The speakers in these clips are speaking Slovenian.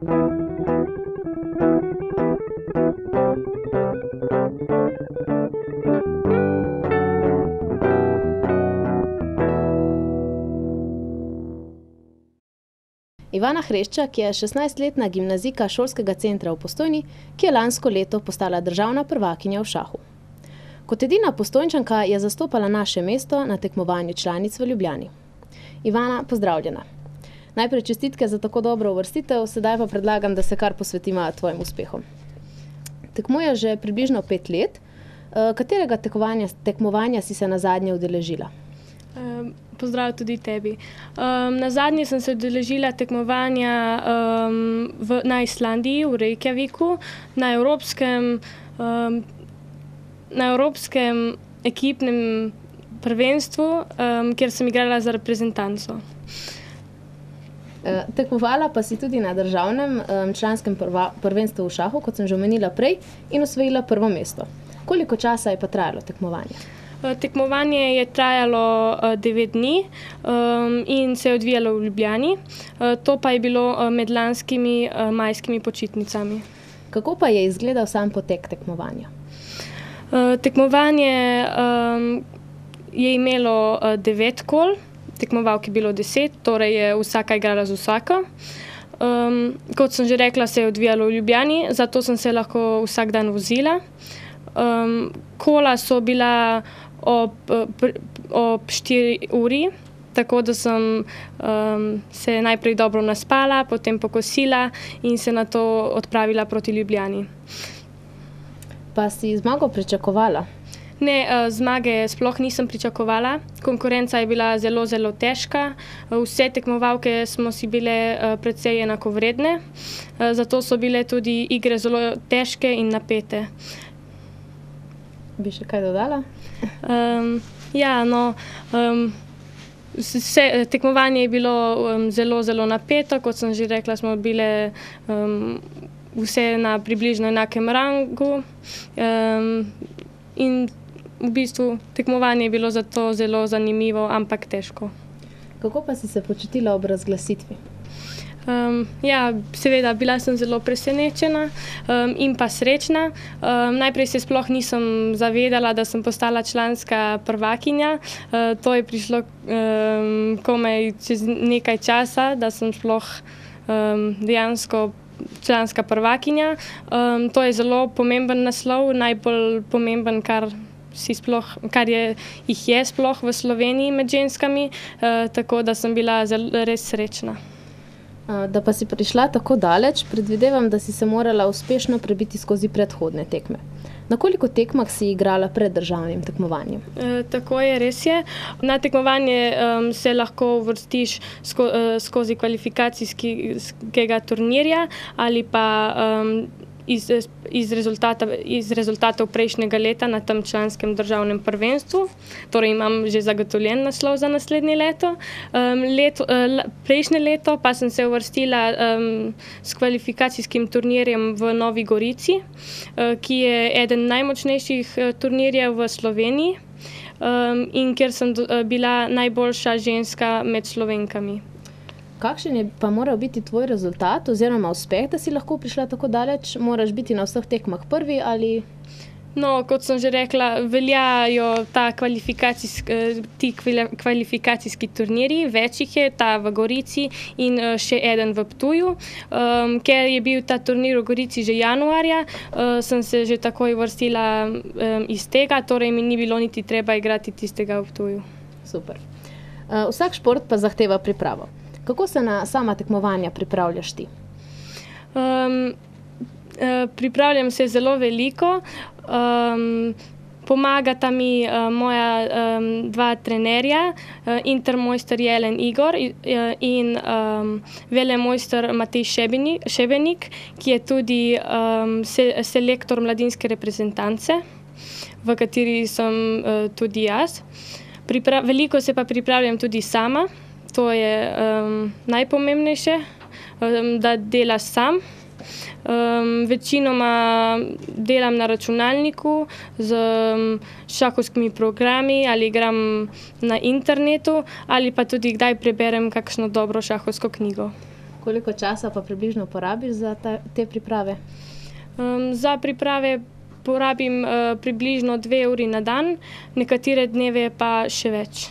Ivana Hreščak je 16-letna gimnazijka šolskega centra v Postojni, ki je lansko leto postala državna prvakinja v šahu. Kot edina Postojnčanka je zastopala naše mesto na tekmovanju članic v Ljubljani. Ivana, pozdravljena. Najprej čestitke za tako dobro uvrstitev, sedaj pa predlagam, da se kar posvetima tvojim uspehom. Tekmuješ že približno 5 let. Katerega tekmovanja si se nazadnje udeležila? Pozdrav tudi tebi. Nazadnje sem se udeležila tekmovanja na Islandiji, v Reykjaviku, na evropskem ekipnem prvenstvu, kjer sem igrala za reprezentanco. Tekmovala pa si tudi na državnem članskem prvenstvu v šahu, kot sem že omenila prej, in osvojila prvo mesto. Koliko časa je pa trajalo tekmovanje? Tekmovanje je trajalo 9 dni in se je odvijalo v Ljubljani. To pa je bilo med lanskimi majskimi počitnicami. Kako pa je izgledal sam potek tekmovanja? Tekmovanje je imelo 9 kol, tekmovalk je bilo 10, torej je vsaka igrala z vsako. Kot sem že rekla, se je odvijalo v Ljubljani, zato sem se lahko vsak dan vozila. Kola so bila ob 4 uri, tako da sem se najprej dobro naspala, potem pokosila in se nato odpravila proti Ljubljani. Pa si zmago pričakovala? Ne, zmage sploh nisem pričakovala. Konkurenca je bila zelo, zelo težka. Vse tekmovalke smo si bile precej enakovredne, zato so bile tudi igre zelo težke in napete. Bi še kaj dodala? Tekmovanje je bilo zelo, zelo napeto. Kot sem že rekla, smo bile vse na približno enakem rangu. In v bistvu tekmovanje je bilo zato zelo zanimivo, ampak težko. Kako pa si se počutila ob razglasitvi? Seveda, bila sem zelo presenečena in pa srečna. Najprej se sploh nisem zavedala, da sem postala članska prvakinja. To je prišlo komaj čez nekaj časa, da sem sploh dejansko članska prvakinja. To je zelo pomemben naslov, najbolj pomemben, kar jih je sploh v Sloveniji med ženskami, tako da sem bila res srečna. Da pa si prišla tako daleč, predvidevam, da si se morala uspešno prebiti skozi predhodne tekme. Na koliko tekmah si igrala pred državnim tekmovanjem? Tako je, res je. Na tekmovanje se lahko uvrstiš skozi kvalifikacijskega turnirja ali pa iz rezultatov prejšnjega leta na tem članskem državnem prvenstvu. Torej imam že zagotovljen naslov za naslednje leto. Prejšnje leto pa sem se uvrstila s kvalifikacijskim turnirjem v Novi Gorici, ki je eden najmočnejših turnirjev v Sloveniji in kjer sem bila najboljša ženska med Slovenkami. Kakšen je pa moral biti tvoj rezultat oziroma uspeh, da si lahko prišla tako daleč? Moraš biti na vseh tekmah prvi ali? No, kot sem že rekla, veljajo ti kvalifikacijski turnirji, več jih je, ta v Gorici in še eden v Ptuju. Ker je bil ta turnir v Gorici že januarja, sem se že takoj vrstila iz tega, torej mi ni bilo niti treba igrati tistega v Ptuju. Super. Vsak šport pa zahteva pripravo. Kako se na sama tekmovanja pripravljaš ti? Pripravljam se zelo veliko. Pomagata mi moja dva trenerja, intermojster Jelen Igor in velemojster Matej Šebenik, ki je tudi selektor mladinske reprezentance, v kateri sem tudi jaz. Veliko se pa pripravljam tudi sama. To je najpomembnejše, da delaš sam. Večinoma delam na računalniku z šahovskimi programi ali igram na internetu ali pa tudi kdaj preberem kakšno dobro šahovsko knjigo. Koliko časa pa približno porabiš za te priprave? Za priprave porabim približno 2 uri na dan, nekatere dneve pa še več.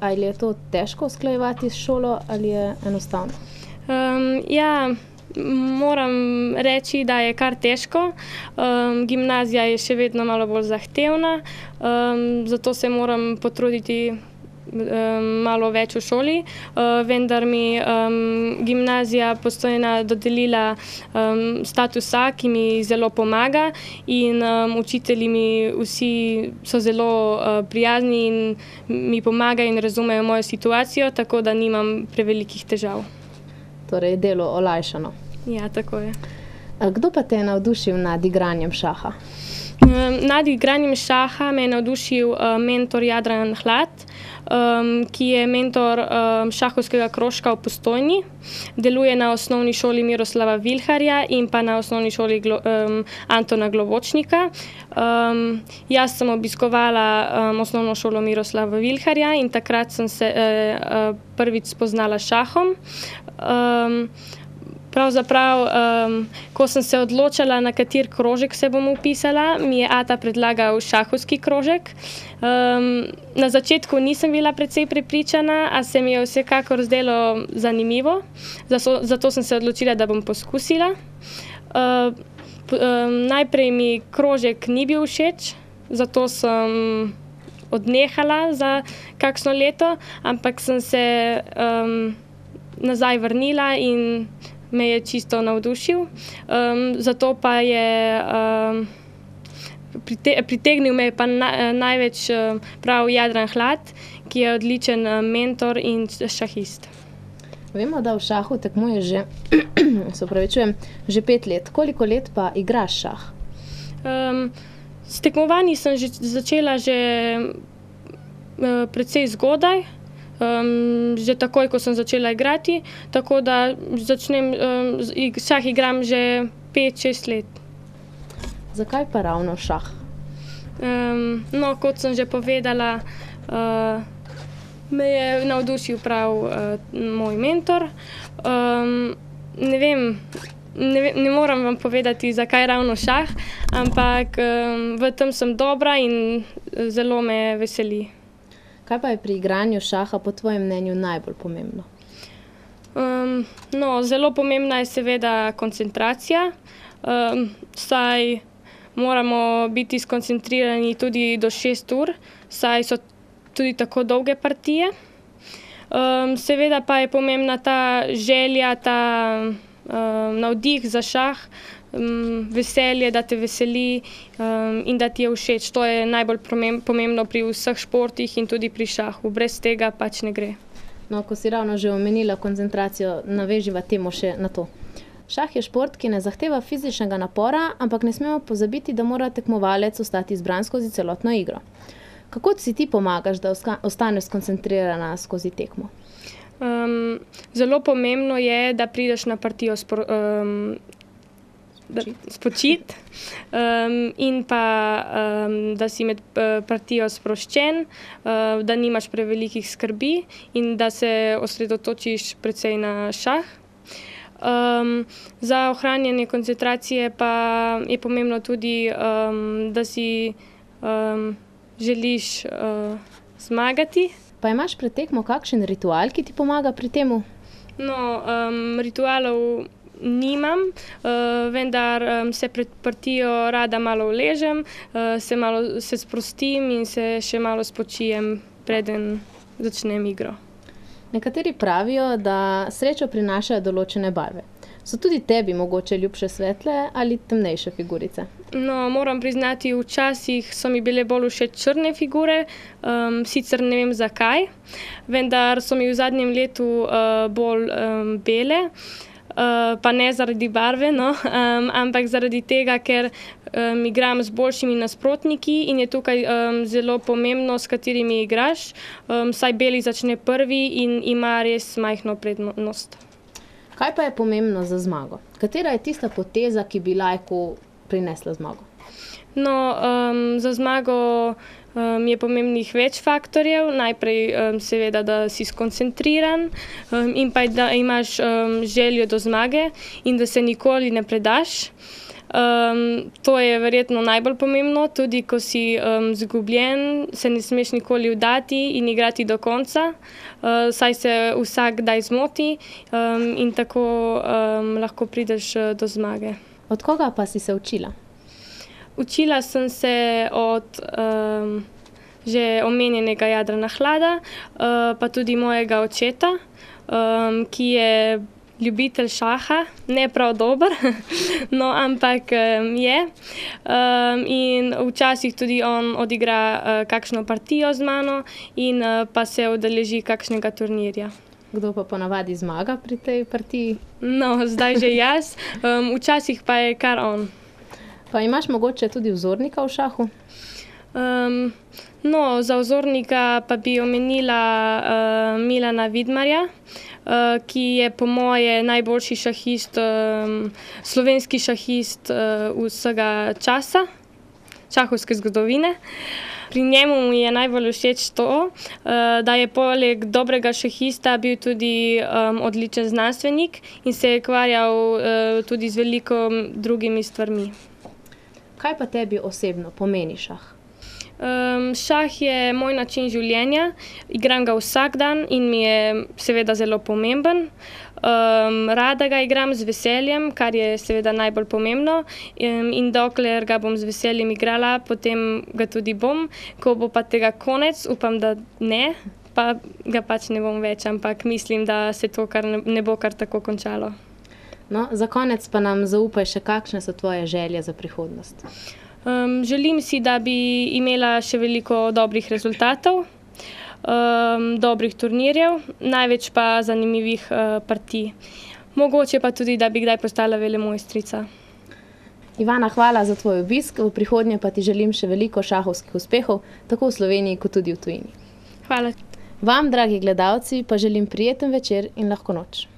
Ali je to težko usklajevati s šolo ali je enostavno? Ja, moram reči, da je kar težko. Gimnazija je še vedno malo bolj zahtevna, zato se moram potruditi malo več v šoli, vendar mi gimnazija Postojna dodelila status A, ki mi zelo pomaga in učitelji mi vsi so zelo prijazni in mi pomagajo in razumejo mojo situacijo, tako da nimam prevelikih težav. Torej, delo olajšano. Ja, tako je. Kdo pa te je navdušil nad igranjem šaha? Nad igranjem šaha me je navdušil mentor Jadran Hlad, ki je mentor šahovskega krožka v Postojni. Deluje na osnovni šoli Miroslava Vilharja in pa na osnovni šoli Antona Globočnika. Jaz sem obiskovala osnovno šolo Miroslava Vilharja in takrat sem se prvič spoznala s šahom. Pravzaprav, ko sem se odločala, na kateri krožek se bom vpisala, mi je ata predlagal šahovski krožek. Na začetku nisem bila precej prepričana, a se mi je vsekakor zdelo zanimivo, zato sem se odločila, da bom poskusila. Najprej mi krožek ni bil všeč, zato sem odnehala za kakšno leto, ampak sem se nazaj vrnila in me je čisto navdušil. Zato pa je pritegnil me pa največ prav Jadran Hlad, ki je odličen mentor in šahist. Vemo, da v šahu tekmuješ že 5 let. Koliko let pa igraš šah? S tekmovanji sem začela že precej zgodaj. Že takoj, ko sem začela igrati, tako da šah igram že 5-6 let. Zakaj pa ravno šah? Kot sem že povedala, me je navdušil prav moj mentor. Ne vem, ne moram vam povedati, zakaj ravno šah, ampak v tem sem dobra in zelo me veseli. Kaj pa je pri igranju šaha po tvojem mnenju najbolj pomembno? Zelo pomembna je seveda koncentracija, saj moramo biti skoncentrirani tudi do 6 ur, saj so tudi tako dolge partije. Seveda pa je pomembna ta želja, ta navdih za šah, veselje, da te veseli in da ti je všeč. To je najbolj pomembno pri vseh športih in tudi pri šahu. Brez tega pač ne gre. Ko si ravno že omenila koncentracijo, naveživa temo še na to. Šah je šport, ki ne zahteva fizičnega napora, ampak ne smemo pozabiti, da mora tekmovalec ostati zbran skozi celotno igro. Kako si ti pomagaš, da ostaneš skoncentrirana skozi tekmo? Zelo pomembno je, da prideš na partijo spočit in pa da si med partijo sproščen, da nimaš prevelikih skrbi in da se osredotočiš precej na šah. Za ohranjanje koncentracije pa je pomembno tudi, da si želiš zmagati. Pa imaš pred tekmo kakšen ritual, ki ti pomaga pri temu? Ritualov nimam, vendar se pred partijo rada malo uležem, se sprostim in se še malo spočijem, preden začnem igro. Nekateri pravijo, da srečo prinašajo določene barve. So tudi tebi mogoče ljubše svetle ali temnejše figurice? Moram priznati, včasih so mi bile bolj všeč črne figure, sicer ne vem zakaj, vendar so mi v zadnjem letu bolj bele. Pa ne zaradi barve, ampak zaradi tega, ker igram z boljšimi nasprotniki in je tukaj zelo pomembno, s katerimi igraš, saj beli začne prvi in ima res majhno prednost. Kaj pa je pomembno za zmago? Katera je tista poteza, ki bi lajku prinesla zmago? No, za zmago je pomembnih več faktorjev. Najprej seveda, da si skoncentriran in pa da imaš željo do zmage in da se nikoli ne predaš. To je verjetno najbolj pomembno, tudi ko si izgubljen, se ne smeš nikoli vdati in igrati do konca, saj se vsak kdaj zmoti in tako lahko prideš do zmage. Od koga pa si se učila? Učila sem se od že omenjenega Jadrana Hlada, pa tudi mojega očeta, ki je ljubitelj šaha, ne prav dober, no, ampak je. In včasih tudi on odigra kakšno partijo z mano in pa se udeleži kakšnega turnirja. Kdo pa ponavadi zmaga pri tej partiji? No, zdaj že jaz, včasih pa je kar on. Pa imaš mogoče tudi vzornika v šahu? No, za vzornika pa bi omenila Milana Vidmarja, ki je po moje najboljši šahist, slovenski šahist vsega časa, šahovske zgodovine. Pri njemu mi je najbolj všeč to, da je poleg dobrega šahista bil tudi odličen znanstvenik in se je ukvarjal tudi z veliko drugimi stvarmi. Kaj pa tebi osebno pomeni šah? Šah je moj način življenja, igram ga vsak dan in mi je seveda zelo pomemben. Rada ga igram z veseljem, kar je seveda najbolj pomembno, in dokler ga bom z veseljem igrala, potem ga tudi bom. Ko bo pa tega konec, upam, da ne, pa ga pač ne bom več, ampak mislim, da se to ne bo kar tako končalo. No, za konec pa nam zaupaj še, kakšne so tvoje želje za prihodnost? Želim si, da bi imela še veliko dobrih rezultatov, dobrih turnirjev, največ pa zanimivih partij. Mogoče pa tudi, da bi kdaj postala velemojstrica. Ivana, hvala za tvoj obisk, v prihodnje pa ti želim še veliko šahovskih uspehov, tako v Sloveniji kot tudi v tujini. Hvala. Vam, dragi gledalci, pa želim prijeten večer in lahko noč.